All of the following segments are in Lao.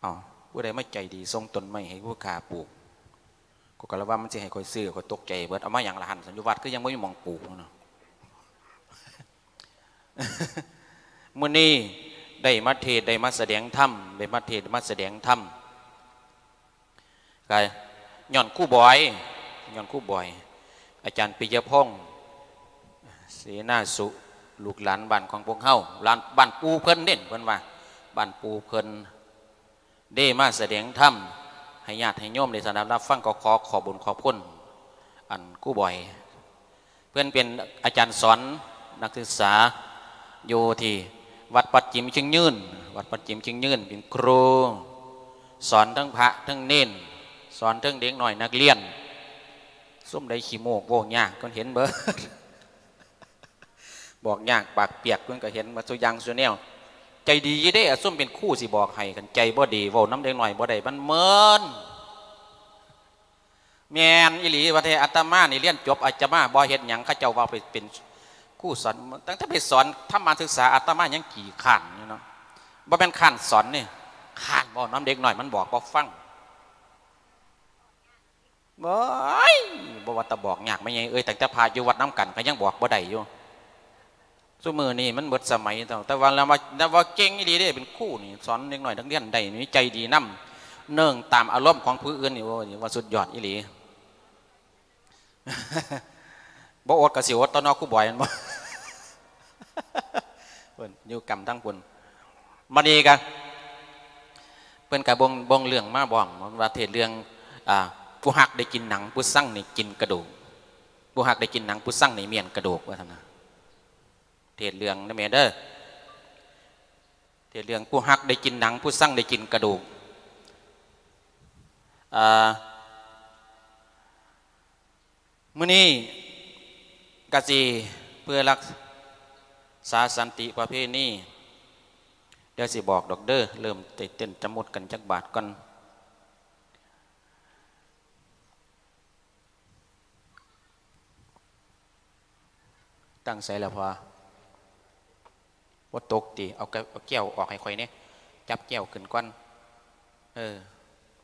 ເອົາ ຜູ້ໃດມາໃຈດີສົ່ງຕົ້ນໄມ້ໃຫ້ຜູ້ຂ້າປູກ? ຂ້ອຍກໍລະວ່າມັນຊິໃຫ້ຂ້ອຍຊື້ ຂ້ອຍຕົກໃຈເບິດ. ເອົາມາຫຍັງລະຫັ້ນ? ຢູ່ວັດຄືຍັງບໍ່ມີໝ່ອງປູກເນາະ. ມື້ນີ້ໄດ້ມາເທດ ໄດ້ມາສະແດງທຳ ໄດ້ມາເທດ ໄດ້ມາສະແດງທຳ ກໍຍ້ອນຄູບອຍ ຍ້ອນຄູບອຍ ອາຈານປິຍະພົງ ເສນາສຸ ລູກຫຼານບ້ານຂອງພວກເຮົາ ຫຼານ ບ້ານປູ່ເພິ່ນເດ້ ເພິ່ນວ່າບ້ານປູ່ເພິ່ນ ເດ້ມາສະແດງທຳໃຫ້ຍາດໃຫ້ໂຍມໄດ້ສະດັບຮັບຟັງ. ກໍຂໍຂອບບຸນຂອບຄຸນ ອັນ ຄູບອຍ ເພິ່ນເປັນອາຈານສອນນັກສຶກສາຢູ່ທີ່ວັດປັດຈິມຈຽງຍືນ ວັດປັດຈິມຈຽງຍືນ ເປັນຄູສອນທັງພະທັງເນນ ສອນເຖິງເດັກນ້ອຍນັກຮຽນ. ຊຸມໃດຂີ້ໂມ້ເວົ້າຍາກ ເພິ່ນເຫັນເບິດ ບອກຍາກປາກປຽກ ເພິ່ນກໍເຫັນໝົດຊຸຢ່າງຊຸແນວ. ໃຈດີເດ້ ຊຸມເປັນຄູຊິບອກໃຫ້ ຄັນໃຈບໍ່ດີເວົ້ານຳເດັກນ້ອຍບໍ່ໄດ້ ມັນເມີນ. ແມ່ນອີ່ຫຼີ ວ່າແທ້ ອາດຕະມານີ້ຮຽນຈົບ ອາດຕະມາບໍ່ເຮັດຫຍັງ ເຂົາເຈົ້າວ່າໄປເປັນຄູສອນ ຕັ້ງແຕ່ໄປສອນທຳມະສຶກສາ ອາດຕະມາຍັງຂີ້ຄ້ານຢູ່ເນາະ. ບໍ່ແມ່ນຄ້ານສອນນີ້ ຄ້ານເວົ້ານຳເດັກນ້ອຍ ມັນບອກບໍ່ຟັງ. ໂອ້ຍ ບໍ່ວ່າແຕ່ບອກຍາກ ແມ່ໃຫຍ່ເອີຍ ຕັ້ງແຕ່ພະຢູ່ວັດນຳກັນກໍຍັງບອກບໍ່ໄດ້ຢູ່. ຊຸມື້ນີ້ມັນເບິດສະໄໝແລ້ວ ແຕ່ວ່າລະວ່າ ລະວ່າເກັ່ງອີ່ຫຼີເດ້ ເປັນຄູນີ້ ສອນເດັກນ້ອຍນັກຮຽນໄດ້ນີ້ ໃຈດີນຳ ເນື່ອງຕາມອາລົມຂອງຜູ້ອື່ນນີ້ ໂອ້ຍ ວ່າສຸດຍອດອີ່ຫຼີ. ບໍ່ອົດກໍຊິອົດຕໍ່ເນາະ ຄູບອຍ ແມ່ນບໍ່? ເພິ່ນຢູ່ກຳທາງພຸ້ນ. ບັດນີ້ກໍ ເພິ່ນກໍບົ່ງ ບົ່ງເລື່ອງມາບອກວ່າ ເທດເລື່ອງ ອ່າ ຜູ້ຮັກໄດ້ກິນໜັງ ຜູ້ຊັງນີ້ກິນກະດູກ ຜູ້ຮັກໄດ້ກິນໜັງ ຜູ້ຊັງນີ້ມ້ຽນກະດູກ ວ່າຊັ້ນນະ. ເທດເລື່ອງນະແມ່ເດີ ເທດເລື່ອງຜູ້ຮັກໄດ້ກິນໜັງ ຜູ້ຊັງໄດ້ກິນກະດູກ. ອ່າ ມື້ນີ້ກະຊິເພື່ອລັກສາສັນຕິປະເພນີ ດຽວຊິບອກດອກເດີ ເລີ່ມໄດ້ເຕັ້ນຈະມຸດກັນຈັກບາດກ່ອນ. ຕັ້ງໃສລະພໍ່? ບໍ່ຕົກຕິ? ເອົາແກ້ວ ເອົາແກ້ວອອກໃຫ້ຂ້ອຍແດ່ ຈັບແກ້ວຂຶ້ນກ່ອນ. ເອີ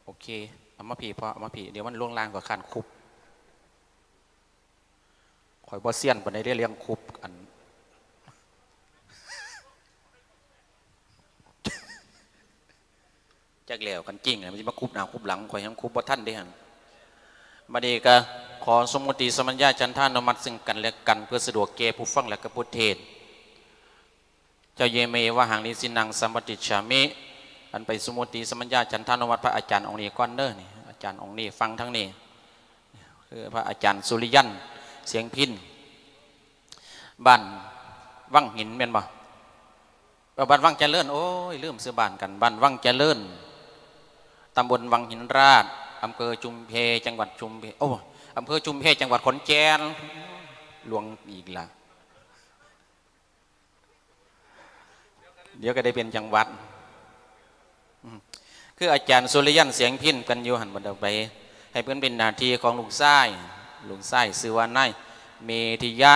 ໂອເຄ ເອົາມາພີ້ພໍ່ ເອົາມາພີ້ ດຽວມັນລົງລ່າງ ຂ້ອຍຄ້ານຄຸບ. ຂ້ອຍບໍ່ຊຽນປານໃດເດ້ ເລື່ອງຄຸບ ອັນ ຈັກແລ້ວ ຄັນຈິງນະ ມັນຊິມາຄຸບໜ້າຄຸບຫຼັງ ຂ້ອຍຍັງຄຸບບໍ່ທັນເດ້ຫັ້ນ. ບັດນີ້ກໍຂໍສົມມຸຕິສຳບັນຍາ ສັນທານຸມັດ ຊຶ່ງກັນແລະກັນ ເພື່ອສະດວກແກ່ຜູ້ຟັງ ແລະ ກໍຜູ້ເທດ. ຈະເຍເມວະຫັງ ນິສິນນັງ ສຳປະຕິດສາມິ. ອັນໄປສົມມຸຕິສຳບັນຍາ ສັນທານຸມັດ ພະອາຈານອົງນີ້ກ່ອນເດີ ນີ້ ອາຈານອົງນີ້ ຟັງທາງນີ້ ຄືພະອາຈານສຸລິຍັນ ສຽງພິນ ບ້ານວັງຫີນແມ່ນບໍ່? ເອີ ບ້ານວັງຈະເລີນ ໂອ້ຍ ລືມຊື່ບ້ານກັນ ບ້ານວັງຈະເລີນ ຕຳບົນວັງຫີນລາດ ອຳເພີຊຸມແພ ຈັງຫວັດຊຸມແພ ໂອ້ ອຳເພີຊຸມແພ ຈັງຫວັດຂອນແກ່ນ ຫຼວງອີກລະ ດຽວກໍໄດ້ເປັນຈັງຫວັດ. ອືມ ຄືອາຈານສຸລິຍັນ ສຽງພິນ ເພິ່ນຢູ່ຫັ້ນ ບໍ່ໄດ້ໄປ ໃຫ້ເພິ່ນເປັນໜ້າທີ່ຂອງລູກຊາຍ ລູກຊາຍຊື່ວ່ານາຍເມທິຍະ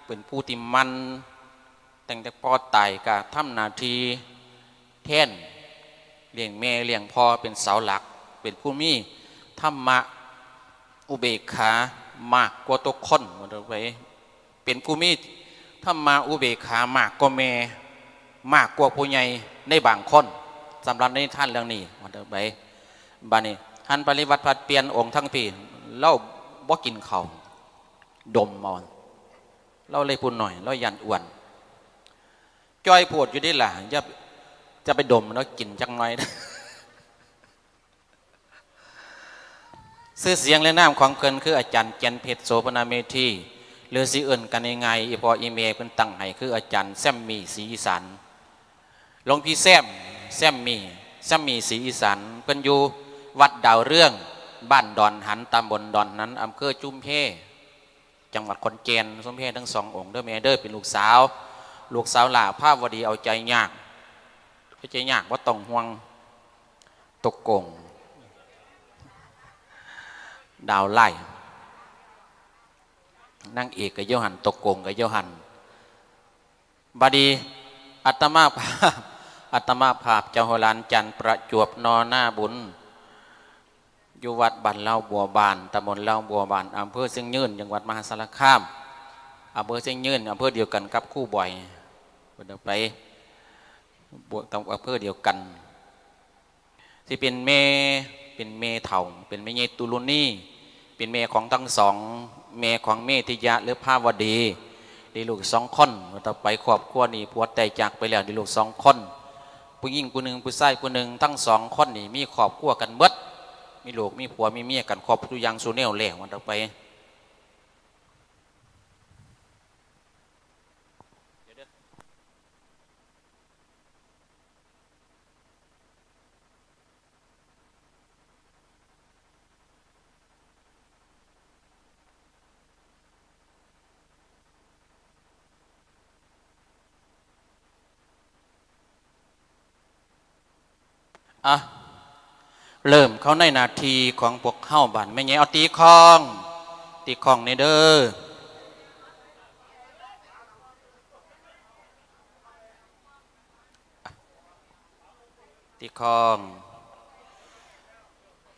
ເປັນຜູ້ທີ່ໝັ່ນ ຕັ້ງແຕ່ພໍ່ຕາຍກໍທຳໜ້າທີ່ແທນ ລ້ຽງແມ່ລ້ຽງພໍ່ ເປັນເສົາຫຼັກ ເປັນຜູ້ມີທຳມະອຸເບກຂາມາກກວ່າທຸກຄົນ ວ່າໄປ ເປັນຜູ້ມີທຳມະອຸເບກຂາມາກກວ່າແມ່ ມາກກວ່າຜູ້ໃຫຍ່ໃນບາງຄົນ ສຳລັບໃນນິທານເລື່ອງນີ້ ວ່າໄປ. ບາດນີ້ ຫັນປະລິວັດຜັດປ່ຽນອົງທັງພີ້ ລາວບໍ່ກິນເຂົ້າ ດົມເອົາ ລາວເລີຍຜູ້ນ້ອຍ ລາວຢ້ານອ້ວນ ຈ່ອຍໂພດຢູ່ເດ້ລະ ຢ່າ ຢ່າໄປດົມເນາະ ກິນຈັກໜ່ອຍ. ຊື່ສຽງ ແລະ ນາມຂອງເພິ່ນຄືອາຈານ ແກ່ນເພັດ ໂສພະນາເມທີ ຫຼື ຊິເອີ້ນກັນງ່າຍໆ ອີ່ພໍ່ອີ່ແມ່ເພິ່ນຕັ້ງໃຫ້ ຄືອາຈານແຊມມີ ສີອີສານ. ຫຼວງພີ່ແຊມ ແຊມມີ ແຊມມີ ສີອີສານ ເພິ່ນຢູ່ວັດດາວເຮືອງ ບ້ານດອນຫັນ ຕຳບົນດອນຫັນ ອຳເພີຊຸມແພ ຈັງຫວັດຂອນແກ່ນ. ສົມແພທັງສອງອົງເດີແມ່ເດີ ເປັນລູກສາວ ລູກສາວຫຼ້າພາວະດີ ເອົາໃຈຍາກ ເອົາໃຈຍາກ ບໍ່ຕ້ອງຫ່ວງ. ຕົກກົງ ດາວໄລ່ ນາງເອກກໍຢູ່ຫັ້ນ ຕົກກົງກໍຢູ່ຫັ້ນ. ບາດນີ້ອາດຕະມາພາບ ອາດຕະມະພາບເຈົ້າຫົວຫຼານຈັນ ປະຈວບ ນໍນາບຸນ ຢູ່ວັດບ້ານເລົາບົວບານ ຕຳບົນເລົາບົວບານ ອຳເພີຊຽງຍືນ ຈັງຫວັດມະຫາສາລະຄາມ ອຳເພີຊຽງຍືນ ອຳເພີດຽວກັນກັບຄູບອຍ ເພິ່ນເອົາໄປ ບວກຕາມອຳເພີດຽວກັນ ຊິເປັນແມ່ ເປັນແມ່ເຖົ້າ ເປັນແມ່ໃຫຍ່ຕຸລຸນີ ເປັນແມ່ຂອງທັງສອງ ແມ່ຂອງເມທິຍະ ຫຼື ພາວະດີ ໄດ້ລູກສອງຄົນ ຕໍ່ໄປຄອບຄົວນີ້ ຜົວຕາຍຈາກໄປແລ້ວ ໄດ້ລູກສອງຄົນ ຜູ້ຍິງຜູ້ໜຶ່ງ ຜູ້ຊາຍຜູ້ໜຶ່ງ ທັງສອງຄົນນີ້ມີຄອບຄົວກັນເບິດ ມີລູກມີຜົວ ມີເມຍກັນຄົບທຸກຢ່າງສູ່ແນວແລ້ວ ວ່າຕໍ່ໄປ. ອ່ະ ເລີ່ມເຂົ້າໃນໜ້າທີ່ຂອງພວກເຮົາ ບາດແມ່ໃຫຍ່ ເອົາຕີຄ້ອງ ຕີຄ້ອງແດ່ເດີ. ຕິຄອງ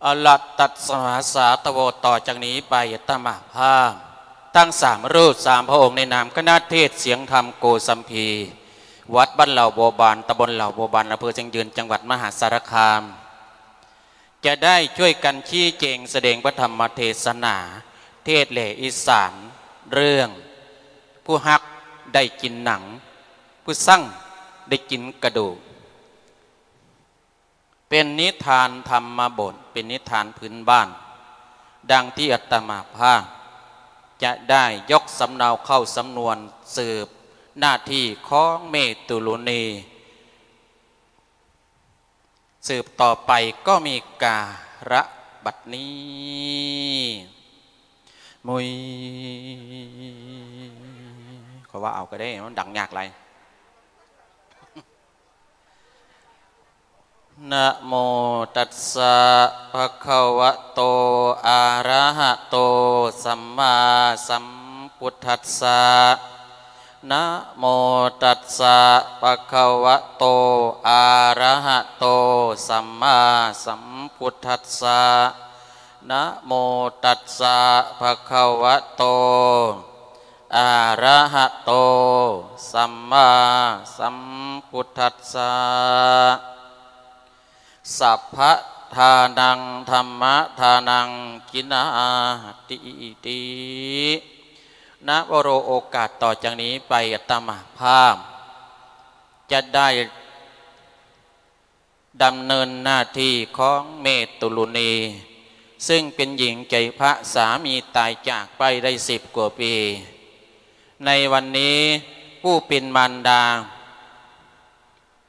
ອະລະຕັດສະມະຫາສາຕະໂວ ຕໍ່ຈາກນີ້ໄປ ອາດຕະມະພາບ ທັງສາມຮູບສາມພະອົງ ໃນນາມຄະນະເທດສຽງທຳໂກສັມພີ ວັດບ້ານເລົາບົວບານ ຕຳບົນເລົາບົວບານ ອຳເພີຊຽງຍືນ ຈັງຫວັດມະຫາສາລະຄາມ ຈະໄດ້ຊ່ວຍກັນຊີ້ແຈງສະແດງພະທຳມະເທສະໜາ ເທດແຫຼອີສານ ເລື່ອງ ຜູ້ຮັກໄດ້ກິນໜັງ ຜູ້ຊັງໄດ້ກິນກະດູກ ເປັນນິທານທຳມະບົດ ເປັນນິທານພື້ນບ້ານ ດັ່ງທີ່ອາດຕະມະພາບຈະໄດ້ຍົກສຳເນົາເຂົ້າສຳນວນ ສືບໜ້າທີ່ຂອງເມຕຸລຸນີ ສືບຕໍ່ໄປກໍມີກາລະບັດນີ້ ມຸຍ ຂໍວ່າເອົາກໍໄດ້ ມັນດັງຍາກຫຼາຍ. ນະໂມຕັດສະ ພະຄະວະໂຕ ອະລະຫະໂຕ ສຳມາສຳພຸດທັດສະ. ນະໂມຕັດສະ ພະຄະວະໂຕ ອະລະຫະໂຕ ສຳມາສຳພຸດທັດສະ. ນະໂມຕັດສະ ພະຄະວະໂຕ ອະລະຫະໂຕ ສຳມາສຳພຸດທັດສະ. ສັບພະທານັງ ທຳມະທານັງ ກິນາທິ ນະວະໂຣ. ໂອກາດຕໍ່ຈາກນີ້ໄປ ອາດຕະມາພາບຈະໄດ້ດຳເນີນໜ້າທີ່ຂອງເມຕຸລຸນີ ເຊິ່ງເປັນຍິງໃຈພະ ສາມີຕາຍຈາກໄປໄດ້ສິບກວ່າປີ. ໃນວັນນີ້ ຜູ້ເປັນມານດາ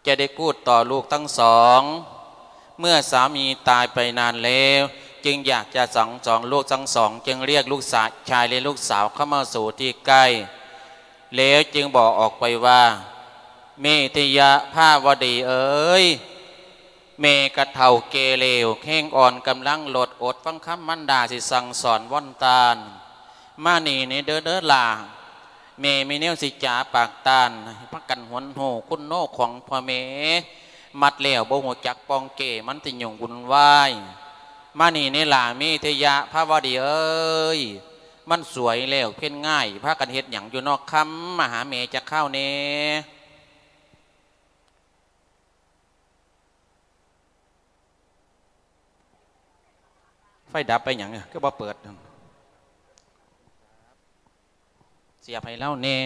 ຈະໄດ້ກູດຕໍ່ລູກທັງສອງ. ເມື່ອສາມີຕາຍໄປນານແລ້ວ ຈຶ່ງຢາກຈະສັງສອນລູກທັງສອງ ຈຶ່ງລຽກລູກຊາ- ຊາຍ ແລະ ລູກສາວເຂົ້າມາສູ່ທີ່ໃກ້ ແລ້ວຈຶ່ງບອກອອກໄປວ່າ ເມທິຍະ ພາວະດີເອີຍ, ແມ່ກະເຖົ້າແກ່ແລ້ວ ແຮງອ່ອນກຳລັງລົດ ອົດຟັງຄຳມານດາຊິສັ່ງສອນວອນຕານ. ມານີ້ແດ່ເດີ ເດີຫຼ້າ, ແມ່ມີແນວຊິຈາປາກຕ້ານ ໃຫ້ພາກັນຫົນຮູ້ຄຸນໂນຂອງພໍ່ແມ່. ມັດແລ້ວບໍ່ຮູ້ຈັກປ່ອງແກ້ ມັນຊິຫຍຸ້ງວຸ່ນວາຍ. ມານີ້ແດ່ຫຼ້າ ເມທິຍະ ພາວະດີເອີຍ, ມັນສວຍແລ້ວ ເພັນງ່າຍ, ພາກັນເຮັດຫຍັງຢູ່ນອກຄ່ຳ? ມາຫາແມ່ຈັກຄາວແດ່. ໄຟດັບໄປຫຍັງ ຄືບໍ່ເປີດ? ສຽບໃຫ້ລາວແດ່.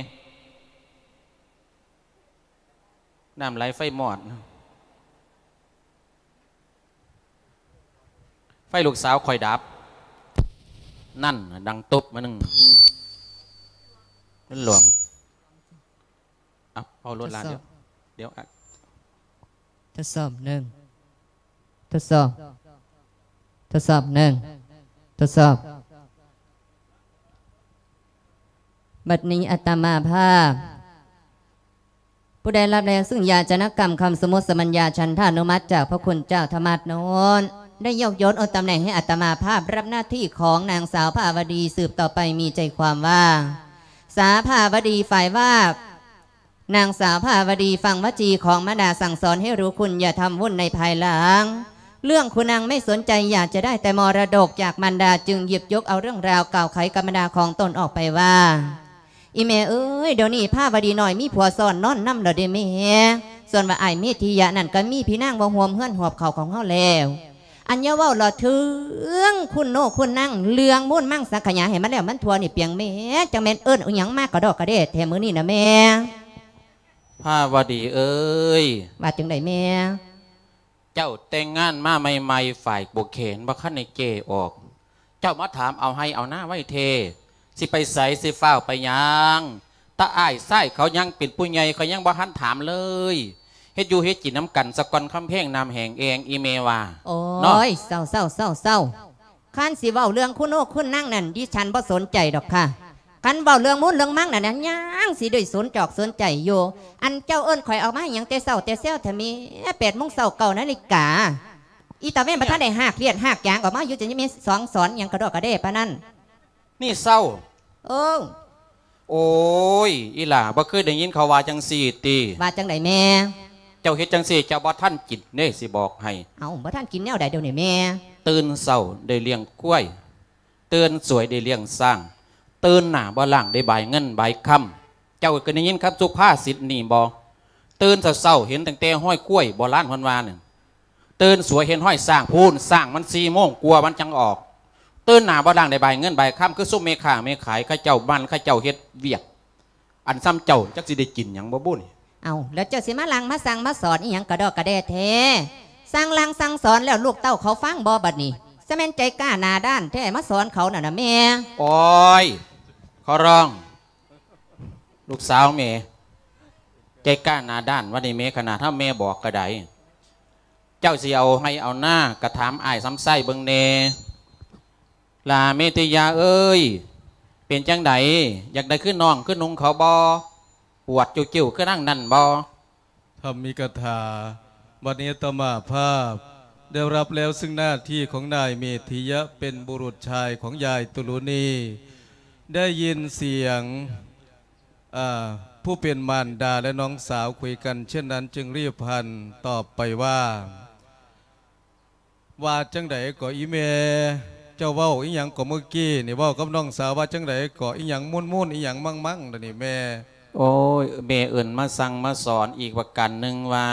ນ້ຳໄຫຼໄຟມອດ. ໄຟລູກສາວຂ້ອຍດັບ. ນັ້ນ ດັງຕຸບມາໜຶ່ງ. ມັນຫຼວງ. ເອົາ ເອົາໂລດລະ. ທົດສອບ. ດຽວ ດຽວ ອະ ທົດສອບ ໜຶ່ງ ທົດສອບ ທົດສອບ ໜຶ່ງ ທົດສອບ. ບັດນີ້ອາດຕະມາພາບ ຜູ້ໄດ້ຮັບແລ້ວຊຶ່ງຢາຈະນະກຳຄຳສົມມຸດສະມັນຍາ ສັນທານຸມັດຈາກພະຄຸນເຈົ້າທຳມະໂນດ ໄດ້ຍົກຍົດເອົາຕຳແໜ່ງໃຫ້ອາດຕະມາພາບ ຮັບໜ້າທີ່ຂອງນາງສາວພາວະດີ ສືບຕໍ່ໄປມີໃຈຄວາມວ່າ ສາວພາວະດີ ຝ່າຍວາບ ນາງສາວພາວະດີຟັງວະຈີຂອງມາດາສັ່ງສອນໃຫ້ຮູ້ຄຸນຢ່າທຳວຸນໃນພາຍຫຼັງ. ເລື່ອງຄຸນນາງໄມ່ສົນໃຈ ຢາກຈະໄດ້ແຕ່ມໍລະດົກຈາກມານດາ ຈຶ່ງຫຍິບຍົກເອົາເລື່ອງລາວກ່າວໄຂກັບມານດາຂອງຕົນອອກໄປວ່າ ອີ່ແມ່ເອີຍ ດຽວນີ້ພາວະດີນ້ອຍມີຜົວຊ້ອນນອນນຳແລ້ວເດ້ແມ່. ສ່ວນວ່າອ້າຍເມທິຍະນັ້ນກໍມີພີ່ນາງມາຮ່ວມເຮືອນຮອບເຂົ້າຂອງເຮົາແລ້ວ. ອັນຢ່າເວົ້າລະເຖິງຄຸນໂນຄຸນນາງ ເລື່ອງມູນມັງສັງຂະຫຍາໃຫ້ມັນແລ້ວມັນທົ່ວນີ້ປຽງແມ່ ຈັກແມ່ນເອີ້ນອີ່ຫຍັງມາກະດອກກະແດ່ແທ້ມື້ນີ້ນະແມ່. ພາວະດີເອີຍ ວ່າຈັ່ງໃດແມ່? ເຈົ້າແຕ່ງງານມາໃໝ່ໆ ຝ້າຍປູກແຂນບໍ່ທັນໄດ້ແກ່ອອກ ເຈົ້າມາຖາມເອົາໄຮ່ເອົານາໄວແທ້ ຊິໄປໃສ ຊິຟ້າວໄປຫຍັງ? ຕາອ້າຍຊາຍເຂົາຍັງເປັນຜູ້ໃຫຍ່ ເຂົາຍັງບໍ່ທັນຖາມເລີຍ. ເຮັດຢູ່ເຮັດກິນນຳກັນສາກ່ອນ ຄຳແພງນ້ຳແຫ້ງແອງ ອີ່ແມ່ວ່າ. ໂອ້ຍ ເນາະ ເຊົາໆໆໆ ຄັນຊິເວົ້າເລື່ອງຄຸນໂນຄຸນນາງນັ້ນ ດິສັນບໍ່ສົນໃຈດອກຄ່ະ. ຄັນເວົ້າເລື່ອງມູນເລື່ອງມັງນັ້ນ ຍັງຊິໄດ້ສົນຈອກສົນໃຈຢູ່. ອັນເຈົ້າເອີ້ນຂ້ອຍອອກມາຫຍັງແຕ່ເຊົ້າແຕ່ແຊວແທ້ແມ່? ແປດໂມງເຊົ້າ ເກົ້ານາລິກາ ອີຕາເວັນບໍ່ທັນໄດ້ຮາກລຽດຮາກຢາງອອກມາຢູ່ ຈະມີສອງສອນຫຍັງກະດອກກະແດ່ປານນັ້ນ. ນີ້ເຊົ້າ. ເອີ. ໂອ້ຍ ອີ່ຫຼ້າ ບໍ່ເຄີຍໄດ້ຍິນເຂົາວ່າຈັ່ງຊີ້ຕິ? ວ່າຈັ່ງໃດແມ່? ເຈົ້າເຮັດຈັ່ງຊີ້ ເຈົ້າບໍ່ທັນກິນເດ້ ຊິບອກໃຫ້. ເອົ້າ ບໍ່ທັນກິນແນວໃດດຽວນີ້ແມ່? ຕື່ນເຊົ້າໄດ້ລ້ຽງຄວາຍ ຕື່ນສວຍໄດ້ລ້ຽງຊ້າງ ຕື່ນໜ້າບໍ່ລ້າງໄດ້ບາຍເງິນບາຍຄຳ. ເຈົ້າກໍໄດ້ຍິນຄຳສຸພາສິດນີ້ບໍ່? ຕື່ນເຊົ້າໆ ເຫັນຕັ້ງແຕ່ຮອຍຄວາຍ ໂບລານເພິ່ນວ່ານັ້ນ. ຕື່ນສວຍເຫັນຮອຍຊ້າງ ພຸ້ນ ຊ້າງມັນສີ່ໂມງກວ່າມັນຈັ່ງອອກ. ຕື່ນໜ້າບໍ່ລ້າງໄດ້ບາຍເງິນບາຍຄຳ ຄືຊຸມແມ່ຄ້າແມ່ຂາຍ ເຂົາເຈົ້າໝັ່ນ ເຂົາເຈົ້າເຮັດວຽກ. ອັນຊ່ຳເຈົ້າຈັກຊິໄດ້ກິນຫຍັງບໍ່ບຸນີ້? ເອົ້າ ແລ້ວເຈົ້າຊິມາສັ່ງມາສັ່ງມາສອນອີ່ຫຍັງກະດອກກະແດ່ແທ້? ສັ່ງສັ່ງສັ່ງສອນແລ້ວລູກເຕົ້າເຂົາຟັງບໍ່ບັດນີ້? ສະແມ່ນໃຈກ້າໜ້າດ້ານແທ້ມາສອນເຂົານັ້ນນະແມ່. ໂອ້ຍ ຂໍຮ້ອງ ລູກສາວແມ່ ໃຈກ້າໜ້າດ້ານວ່ານີ້ແມ່ ຂະໜາດເຮົາແມ່ບອກກໍໄດ້. ເຈົ້າຊິເອົາໄຮ່ເອົານາ ກະຖາມອ້າຍສຳໄຊເບິ່ງແດ່. ຫຼ້າເມຕິຍາເອີຍ ເປັນຈັ່ງໃດ? ຢາກໄດ້ຄືນ້ອງຄືນຸ່ງເຂົາບໍ່? ປວດເຈົ້ວໆ ຄືນາງນັ້ນບໍ່? ທຳມິກະຖາ ບັດນີ້ອາດຕະມາພາບໄດ້ຮັບແລ້ວຊຶ່ງໜ້າທີ່ຂອງນາຍເມທິຍະ ເປັນບຸລຸດຊາຍຂອງຍາຍຕຸລຸນີ. ໄດ້ຍິນສຽງ ອາ ຜູ້ເປັນມານດາ ແລະ ນ້ອງສາວຄຸຍກັນເຊັ່ນນັ້ນ ຈຶ່ງຣີບຫັນຕອບໄປວ່າ ວ່າຈັ່ງໃດກໍອີ່ແມ່? ເຈົ້າເວົ້າອີ່ຫຍັງກໍມື້ກີ້ນີ້? ເວົ້າກັບນ້ອງສາວວ່າຈັ່ງໃດກໍ? ອີ່ຫຍັງມູນໆ ອີ່ຫຍັງມັງໆ ດຽວນີ້ແມ່? ໂອ້ຍ ແມ່ເອີ້ນມາສັ່ງມາສອນອີກປະການໜຶ່ງວ່າ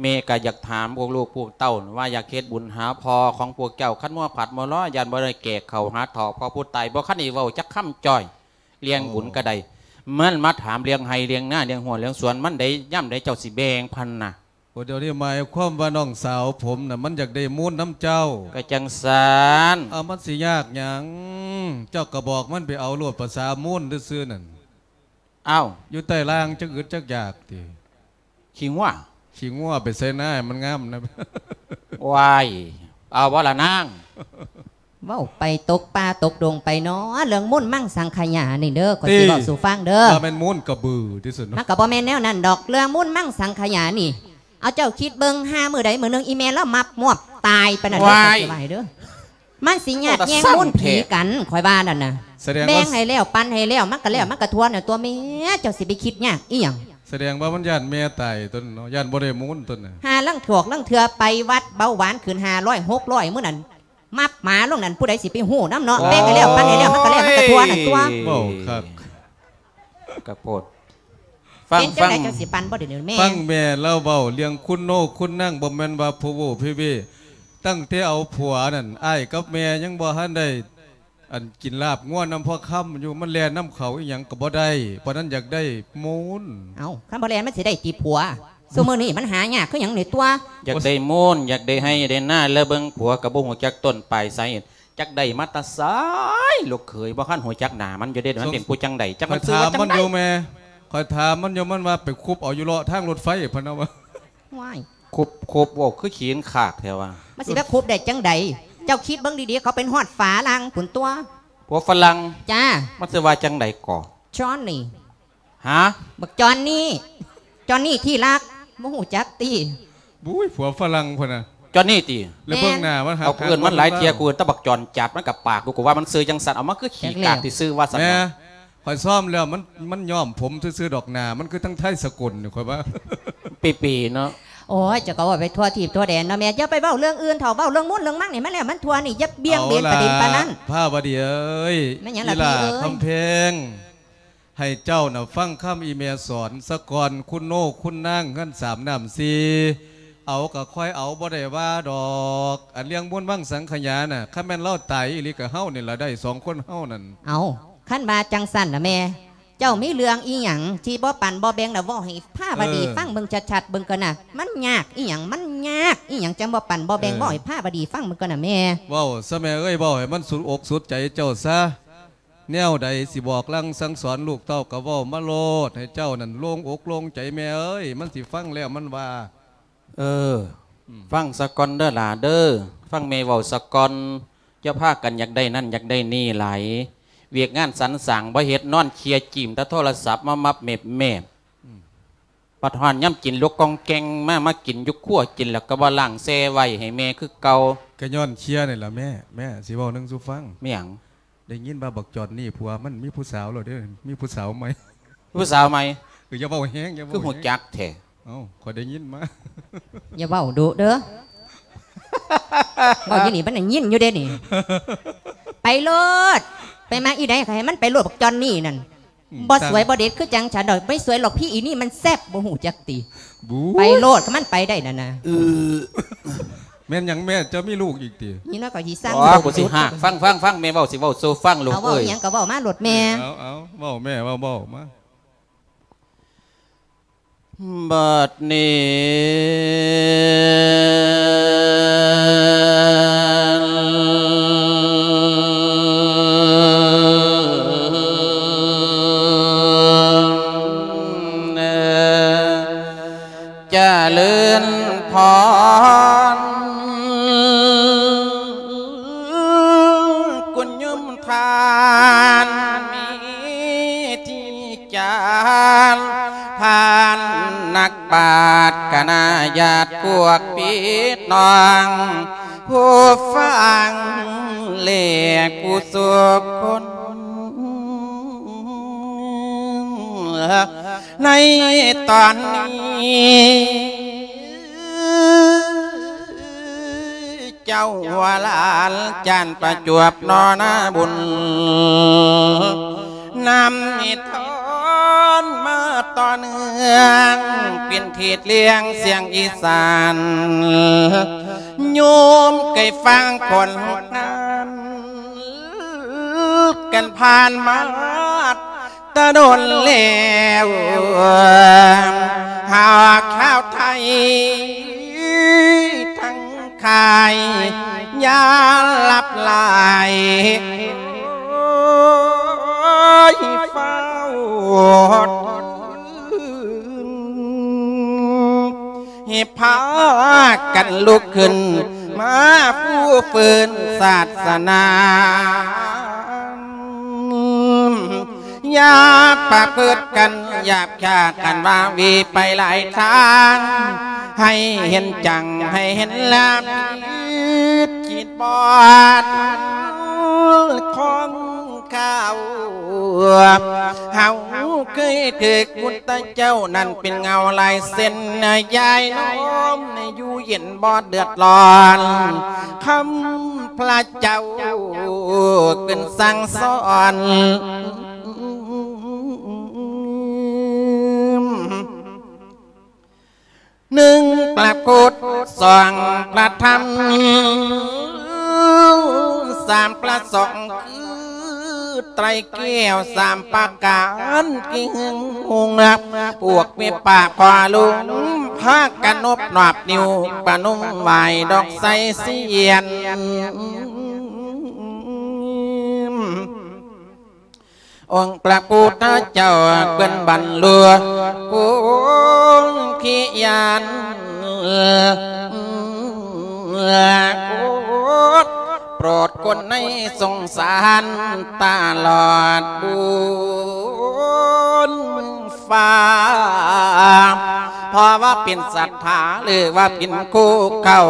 ແມ່ກະຢາກຖາມພວກລູກພວກເຕົ້າວ່າ ຢາກເຮັດບຸນຫາພໍ່ຂອງພວກເຈົ້າ ຄັນມົວພັດມົວລໍ ຢ້ານບໍ່ໄດ້ແກ່ເຂົ້າຫາເຖົ້າພໍ່ຜູ້ຕາຍ. ບໍ່ທັນໄດ້ເວົ້າຈັກຄຳຈ້ອຍ ລ້ຽງບຸນກະໄດ້ ມັນມາຖາມລ້ຽງໄຮ່ລ້ຽງນາ ລ້ຽງຮົ້ວລ້ຽງສວນ ມັນໄດ້ ຍາມໃດເຈົ້າຊິແບ່ງພັນນະ? ໂອ້ ດຽວນີ້ໝາຍຄວາມວ່ານ້ອງສາວຜົມນະ ມັນຢາກໄດ້ມູນນຳເຈົ້າ. ກະຈັ່ງຊັ້ນ. ເອົາ ມັນຊິຍາກຫຍັງ? ເຈົ້າກະບອກມັນໄປເອົາໂລດ ພາສາມູນຊື່ໆ ນັ້ນ. ເອົ້າ ຢູ່ໃຕ້ລ່າງຈັກອຶດຈັກຢາກຕິ? ຂີ້ງົວ ຂີ້ງົວໄປໃສ່ນາໃຫ້ມັນງາມນະ. ວ້າຍ ເອົາບໍ່ລະນາງ? ເວົ້າໄປຕົກປ່າຕົກດົງໄປເນາະ ເລື່ອງມູນມັງສັງຂະຫຍານີ້ເດີ ຂ້ອຍຊິເວົ້າສູ່ຟັງເດີ. ວ່າແມ່ນມູນກະບືທີ່ສຸດເນາະ. ມັນກະບໍ່ແມ່ນແນວນັ້ນດອກ ເລື່ອງມູນມັງສັງຂະຫຍານີ້. ເອົາ ເຈົ້າຄິດເບິ່ງ ຫາມື້ໃດມື້ໜຶ່ງ ອີ່ແມ່ລາວມັບມວບຕາຍປານນັ້ນເດີ ຂ້ອຍຊິວ່າໃຫ້ເດີ. ມັນຊິຍາດແຍ່ງມູນຜີກັນ ຂ້ອຍວ່ານັ້ນນະ. ແບ່ງໃຫ້ແລ້ວ ປັນໃຫ້ແລ້ວ ມັນກະແລ້ວ ມັນກະທົ່ວນັ້ນຕົວະແມ່. ເຈົ້າຊິໄປຄິດຍາກອີ່ຫຍັງ? ສະແດງວ່າມັນຢ້ານແມ່ຕາຍຕົວະເນາະ ຢ້ານບໍ່ໄດ້ມູນຕົວະນະ. ຫາລາງຖອກລາງເທື່ອໄປວັດ ເບົາຫວານຂຶ້ນຫ້າຮ້ອຍຫົກຮ້ອຍ ມື້ນັ້ນ ມັບໝາລົງນັ້ນ ຜູ້ໃດຊິໄປຮູ້ນຳເນາະ. ໂອ້ຍ ແບ່ງໃຫ້ແລ້ວ ປັນໃຫ້ແລ້ວ ມັນກະແລ້ວ ມັນກະທົ່ວນັ້ນຕົວະ. ເວົ້າຄັກ ກະໂພດ. ຟັງ ເປັນຈັ່ງໃດ ເຈົ້າຊິປັ່ນບໍ່ດຽວນີ້ແມ່? ຟັງແມ່ລາວເວົ້າເລື່ອງຄຸນໂນຄຸນນາງ ບໍ່ແມ່ນວ່າໂພໂວເພເວ. ຕັ້ງແຕ່ເອົາຜົວນັ້ນ ອ້າຍກັບແມ່ຍັງບໍ່ທັນໄດ້ ອັນ ກິນລາບງົວນຳພໍ່ຄຳຢູ່ ມັນແລ່ນນຳເຂົາອີ່ຫຍັງກະບໍ່ໄດ້. ປານນັ້ນຢາກໄດ້ມູນ. ເອົ້າ ຄັນບໍ່ແລ່ນມັນຊິໄດ້ຕິຜົວ? ຊຸມື້ນີ້ມັນຫາຍາກຄືຫຍັງນີ້ຕົວະ. ຢາກໄດ້ມູນ ຢາກໄດ້ໄຮ່ໄດ້ນາ ແລະ ເບິ່ງຜົວກະບໍ່ຮູ້ຈັກຕົ້ນປາຍສາເຫດ ຈັກໄດ້ມາແຕ່ໃສ? ລູກເຂີຍບໍ່ທັນຮູ້ຈັກໜ້າມັນຢູ່ເດ້ ມັນເປັນຜູ້ຈັ່ງໃດ ຈັກມັນຊື່ວ່າຈັ່ງໃດ? ຂ້ອຍຖາມມັນຢູ່ແມ່ ຂ້ອຍຖາມມັນຢູ່ ມັນວ່າໄປຄຸບເອົາຢູ່ເລາະທາງລົດໄຟ ເພິ່ນວ່າ. ວ້າຍ ຄຸບ ຄຸບ ເວົ້າຄືຂີ້ຄາກແທ້ວ່າ. ມັນຊິໄປຄຸບໄດ້ຈັ່ງໃດ? ເຈົ້າຄິດເບິ່ງດີໆ ເຂົາເປັນຮອດຝຣັ່ງພຸ້ນຕົວະ. ຜົວຝຣັ່ງ? ຈ້າ. ມັນຊື່ວ່າຈັ່ງໃດກໍ? ຈອນນີ. ຫາ? ບັກຈອນນີ. ຈອນນີທີ່ລັກ ບໍ່ຮູ້ຈັກຕິ? ບຸ້ຍ ຜົວຝຣັ່ງພຸ້ນນະ. ຈອນນີຕິ? ແລ້ວເບິ່ງໜ້າມັນຫາ ເອົາ ກູເອີ້ນມັນຫຼາຍເທື່ອ ກູເອີ້ນແຕ່ບັກຈອນຈັດ ມັນກະປາກ ກູກະວ່າມັນຊື່ຈັ່ງຊັ້ນ ເອົາ ມັນຄືຂີ້ກາກທີ່ຊື່ວ່າຊັ້ນ. ແມ່ ຂ້ອຍຊ້ອມແລ້ວ ມັນ ມັນຍ້ອມຜົມຊື່ໆດອກ ໜ້າມັນຄືທັງໄທສະກົນນີ້ ຂ້ອຍວ່າ ເປເປເນາະ. ໂອ້ຍ ເຈົ້າກໍເວົ້າໄປທົ່ວທີບທົ່ວແດນເນາະແມ່. ຢ່າໄປເວົ້າເລື່ອງອື່ນເຖົາະ ເວົ້າເລື່ອງມົນເລື່ອງມັງນີ້ມາແລ້ວ ມັນທົ່ວນີ້ ຢ່າບ່ຽງເບນປະເດັນປານນັ້ນ. ເອົາລະ ພາວະດີເອີຍ ແມ່ນຫຍັງລະພີ່ເອີຍ? ອີຫຼ້າຄຳແພງ ໃຫ້ເຈົ້ານະຟັງຄຳອີແມ່ສອນສາກ່ອນ ຄຸນໂນຄຸນນາງເຮືອນສາມນ້ຳສີ່ ເອົາກໍຄ່ອຍເອົາ ບໍ່ໄດ້ວ່າດອກ. ອັນເລື່ອງບຸນວັງສັງຂະຍານະ ຄັນແມ່ນລາວຕາຍອີ່ຫຼີກໍເຮົານີ້ລະໄດ້ ສອງຄົນເຮົານັ້ນ. ເອົາ ຄັນວ່າຈັ່ງຊັ້ນນະແມ່ ເຈົ້າມີເລື່ອງອີ່ຫຍັງທີ່ບໍ່ປັນບໍ່ແບ່ງລະ ເວົ້າໃຫ້ພາວະດີ ເອີ ຟັງເບິ່ງຊັດໆເບິ່ງກ່ອນນະ. ມັນຍາກອີ່ຫຍັງ? ມັນຍາກອີ່ຫຍັງ ຈັ່ງບໍ່ປັນບໍ່ແບ່ງ? ເອີ ເວົ້າໃຫ້ພາວະດີຟັງເບິ່ງກ່ອນນະແມ່. ເວົ້າຊະແມ່ເອີຍ ເວົ້າໃຫ້ມັນສຸດອົກສຸດໃຈເຈົ້າຊະ. ແນວໃດຊິບອກລາງສັ່ງສອນລູກເຕົ້າກໍເວົ້າມາໂລດ ໃຫ້ເຈົ້ານັ້ນໂລ່ງອົກໂລ່ງໃຈແມ່ເອີຍ ມັນຊິຟັງແລ້ວມັນວ່າ. ເອີ ອືມ ຟັງສາກ່ອນເດີຫຼ້າເດີ ຟັງແມ່ເວົ້າສາກ່ອນ. ຢ່າພາກັນຢາກໄດ້ນັ້ນຢາກໄດ້ນີ້ຫຼາຍ ວຽກງານສັນສ້າງບໍ່ເຮັດ ນອນເຄຍຈີ້ມແຕ່ໂທລະສັບມາມັບແມບໆ. ອືມ ບັດຮອດຍາມກິນ ລຸກກ່ອງແກ່ງມາ ມາກິນຢູ່ຄົວ ກິນແລ້ວກໍບໍ່ລ້າງແຊ່ໄວ້ໃຫ້ແມ່ຄືເກົ່າ. ກໍຍ້ອນເຄຍນີ້ລະແມ່. ແມ່ ຊິເວົ້າໜຶ່ງສູ່ຟັງ. ແມ່ນຫຍັງ? ໄດ້ຍິນວ່າບັກຈອນນີ້ຜົວມັນມີຜູ້ສາວແລ້ວເດີ ມີຜູ້ສາວໃໝ່. ຜູ້ສາວໃໝ່? ເອີ ຢ່າເວົ້າແຮງ ຢ່າເວົ້າແຮງ. ຄືຮູ້ຈັກແທ້? ເອົ້າ ຂ້ອຍໄດ້ຍິນມາ. ຢ່າເວົ້າດຸເດີ ເວົ້າຢູ່ນີ້ມັນໄດ້ຍິນຢູ່ເດ້ນີ້. ໄປໂລດ ໄປມາອີໃດກໍໃຫ້ມັນໄປໂລດ ບັກຈອນນີ້ນັ້ນ. ອືມ ບໍ່ສວຍບໍ່ເດັດຄືຈັ່ງສາດອກ ໄປສວຍຫຼອກພີ່ອີນີ້ມັນແຊບ ບໍ່ຮູ້ຈັກຕິ. ບູ ໄປໂລດ ຄັນມັນໄປໄດ້ນັ້ນນະ. ເອີ ແມ່ນຫຍັງແມ່ ເຈົ້າມີລູກອີກຕິ? ນີ້ເນາະ ກໍຊິສ້າງ ອໍ ລູກ ກູຊິຫາກ ຟັງ ຟັງ ຟັງ ແມ່ເວົ້າ ຊິເວົ້າສູ່ຟັງລູກເອີຍ. ເອົາ ເວົ້າອີ່ຫຍັງກໍເວົ້າມາໂລດແມ່. ເອົາ ເອົາ ເວົ້າແມ່ ເວົ້າ ເວົ້າມາ. ບັດນີ້ ຈະເລີນພອນ ຄຸນໂຍມທ່ານມີທີ່ ຈານ ທ່ານນັກບາດຄະນະຍາດພວກພີ່ນ້ອງ ຜູ້ຟັງແລະຜູ້ສູ່ຄົນ ໃນຕອນນີ້ ເຈົ້າວ່າຫຼານຈານປະຈວບນໍນາບຸນ ນຳນິທານມາຕໍ່ເນື່ອງ ເປັນເທດເລື່ອງສຽງອີສານ ໂຍມເຄີຍຟັງຄົນງານ ກັນຜ່ານມາ ແຕ່ດົນແລ້ວ ຫາກຊາວໄທທັງຄ້າຍ ຢ່າຫຼັບຫຼາຍ ຂໍໃຫ້ຟ້າວຕື່ນ ໃຫ້ພາກັນລຸກຂຶ້ນ ມາຟູຟື້ນສາສະໜາ ຢ່າປະພຶດກັນຫຍາບຄາດ ອັນວ່າຫວີໄປຫຼາຍທາງ ໃຫ້ເຫັນຈັ່ງ ໃຫ້ເຫັນລາຜິດ ຄິດບອດຂອງເຂົາ ເຮົາເຄີຍຖືກພຸດທະເຈົ້ານັ້ນເປັນເງົາລາຍເສັ້ນ ຍາຍນ້ອມໃນຢູ່ເຢັນບໍ່ເດືອດຮ້ອນ ຄຳພະເຈົ້າເພິ່ນສັ່ງສອນ ໜຶ່ງພະພຸດ ສອງພະທຳ ສາມພະສົງ ຄືໄຕຣແກ້ວສາມປະການ ທີ່ຫຶງຫົງ ພວກແມ່ປ້າພໍ່ລຸງ ພາກັນນົບນອບນິ້ວ ປະນົມໄຫວ້ດອກໄຊສຽນ ອົງພະພຸດທະເຈົ້າເພິ່ນບັນລຸໂພທິຍານ ໂປດຄົນໃນສົງສານຕະຫຼອດບຸນຟ້າ ເພາະວ່າເປັນສັດທາ ຫຼືວ່າເປັນຄູ່ເຂົ້າ